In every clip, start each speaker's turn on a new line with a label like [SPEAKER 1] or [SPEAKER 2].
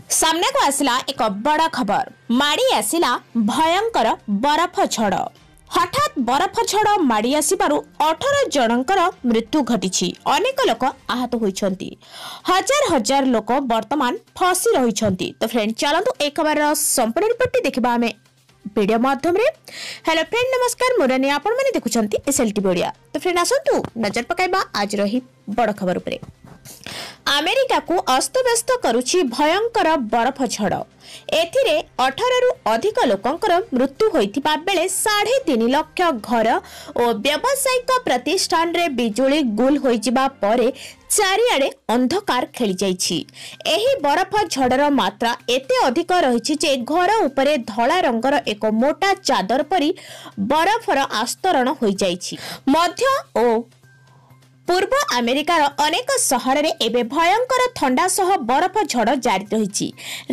[SPEAKER 1] ସାମ୍ନାକୁ ଆସିଲା ଏକ ବଡ଼ ଖବର। ମାଡ଼ି ଆସିଲା ଭୟଙ୍କର ବରଫ ଝଡ଼। ହଠାତ୍ ବରଫ ଝଡ଼ ମାଡ଼ି ଆସିବାରୁ 18 ଜଣଙ୍କର ମୃତ୍ୟୁ ଘଟିଛି, ଅନେକ ଲୋକ ଆହତ ହୋଇଛନ୍ତି, ହଜାର ହଜାର ଲୋକ ବର୍ତ୍ତମାନ ଫସି ରହିଛନ୍ତି। ତ ଫ୍ରେଣ୍ଡ, ଚାଲନ୍ତୁ ଏ ଖବରର ସମ୍ପୂର୍ଣ୍ଣ ରିପୋର୍ଟଟି ଦେଖିବା ଆମେ ଭିଡ଼ିଓ ମାଧ୍ୟମରେ। ହ୍ୟାଲୋ ଫ୍ରେଣ୍ଡ, ନମସ୍କାର, ମୁଁ ରାନୀ, ଆପଣମାନେ ଦେଖୁଛନ୍ତି ଏସ୍ଏଲ୍ଟିଭି ଓଡ଼ିଆ। ତ ଫ୍ରେଣ୍ଡ, ଆସନ୍ତୁ ନଜର ପକାଇବା ଆଜିର ଏହି ବଡ଼ ଖବର ଉପରେ। ଆମେରିକାକୁ ଅସ୍ତବ୍ୟସ୍ତ କରୁଛି ଭୟଙ୍କର ବରଫ ଝଡ଼। ଏଥିରେ 18ରୁ ଅଧିକ ଲୋକଙ୍କର ମୃତ୍ୟୁ ହୋଇଥିବା ବେଳେ 3.5 ଲକ୍ଷ ଘର ଓ ବ୍ୟବସାୟିକ ପ୍ରତିଷ୍ଠାନରେ ବିଜୁଳି ଗୁଲ ହୋଇଯିବା ପରେ ଚାରିଆଡ଼େ ଅନ୍ଧକାର ଖେଳିଯାଇଛି। ଏହି ବରଫ ଝଡ଼ର ମାତ୍ରା ଏତେ ଅଧିକ ରହିଛି ଯେ ଘର ଉପରେ ଧଳା ରଙ୍ଗର ଏକ ମୋଟା ଚାଦର ପରି ବରଫର ଆସ୍ତରଣ ହୋଇଯାଇଛି। ମଧ୍ୟ ଓ ପୂର୍ବ ଆମେରିକାର ଅନେକ ସହରରେ ଏବେ ଭୟଙ୍କର ଥଣ୍ଡା ସହ ବରଫ ଝଡ଼ ଜାରି ରହିଛି।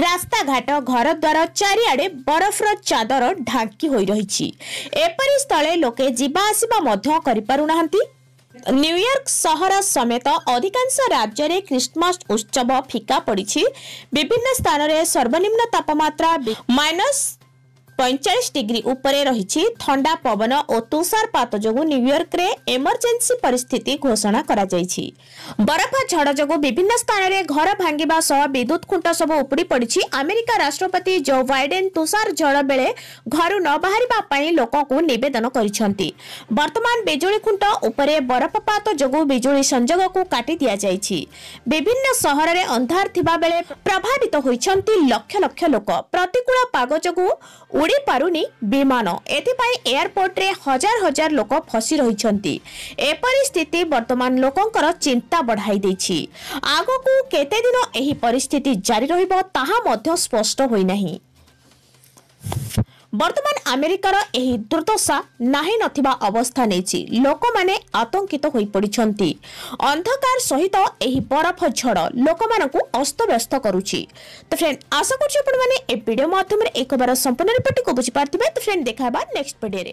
[SPEAKER 1] ରାସ୍ତାଘାଟ, ଘରଦ୍ୱାର ଚାରିଆଡ଼େ ବରଫର ଚାଦର ଢାଙ୍କି ହୋଇ ରହିଛି। ଏପରି ସ୍ଥଳେ ଲୋକେ ଯିବା ଆସିବା ମଧ୍ୟ କରିପାରୁନାହାନ୍ତି। ନ୍ୟୁୟର୍କ ସହର ସମେତ ଅଧିକାଂଶ ରାଜ୍ୟରେ ଖ୍ରୀଷ୍ଟମାସ ଉତ୍ସବ ଫିକା ପଡ଼ିଛି। ବିଭିନ୍ନ ସ୍ଥାନରେ ସର୍ବନିମ୍ନ ତାପମାତ୍ରା -45 ଡିଗ୍ରୀ ଉପରେ ରହିଛି। ଥଣ୍ଡା ପବନ ଓ ତୁଷାରପାତ ଯୋଗୁଁ ନ୍ୟୁୟର୍କରେ ଏମର୍ଜେନ୍ସି ପରିସ୍ଥିତି ଘୋଷଣା କରାଯାଇଛି। ବରଫ ଝଡ଼ ଯୋଗୁଁ ବିଭିନ୍ନ ସ୍ଥାନରେ ଘର ଭାଙ୍ଗିବା ସହ ବିଦ୍ୟୁତ ଖୁଣ୍ଟ ସବୁ ଉପୁଡ଼ି ପଡ଼ିଛି। ଆମେରିକା ରାଷ୍ଟ୍ରପତି ଜୋ ବାଇଡେନ୍ ତୁଷାର ଝଡ଼ ବେଳେ ଘରୁ ନ ବାହାରିବା ପାଇଁ ଲୋକଙ୍କୁ ନିବେଦନ କରିଛନ୍ତି। ବର୍ତ୍ତମାନ ବିଜୁଳି ଖୁଣ୍ଟ ଉପରେ ବରଫପାତ ଯୋଗୁଁ ବିଜୁଳି ସଂଯୋଗକୁ କାଟି ଦିଆଯାଇଛି। ବିଭିନ୍ନ ସହରରେ ଅନ୍ଧାର ଥିବା ବେଳେ ପ୍ରଭାବିତ ହୋଇଛନ୍ତି ଲକ୍ଷ ଲକ୍ଷ ଲୋକ। ପ୍ରତିକୂଳ ପାଗ ଯୋଗୁଁ ଉଡ଼ି ପାରୁନି ବିମାନ। ଏଥିପାଇଁ ଏୟାରପୋର୍ଟରେ ହଜାର ହଜାର ଲୋକ ଫସି ରହିଛନ୍ତି। ଏପରି ସ୍ଥିତି ବର୍ତ୍ତମାନ ଲୋକଙ୍କର ଚିନ୍ତା ବଢ଼ାଇ ଦେଇଛି। ଆଗକୁ କେତେଦିନ ଏହି ପରିସ୍ଥିତି ଜାରି ରହିବ ତାହା ମଧ୍ୟ ସ୍ପଷ୍ଟ ହୋଇନାହିଁ। ବର୍ତ୍ତମାନ ଆମେରିକାର ଏହି ଦୁର୍ଦ୍ଦଶା ନାହିଁ ନଥିବା ଅବସ୍ଥା ନେଇଛି। ଲୋକମାନେ ଆତଙ୍କିତ ହୋଇପଡ଼ିଛନ୍ତି। ଅନ୍ଧକାର ସହିତ ଏହି ବରଫ ଝଡ଼ ଲୋକମାନଙ୍କୁ ଅସ୍ତବ୍ୟସ୍ତ କରୁଛି। ତ ଫ୍ରେଣ୍ଡ, ଆଶା କରୁଛି ଆପଣମାନେ ଏ ଭିଡ଼ିଓ ମାଧ୍ୟମରେ ଏହି ଖବର ସମ୍ପୂର୍ଣ୍ଣ ରିପୋର୍ଟଟିକୁ ବୁଝିପାରିଥିବେ। ତ ଫ୍ରେଣ୍ଡ, ଦେଖା ହେବା ନେକ୍ସଟ ଭିଡ଼ିଓରେ।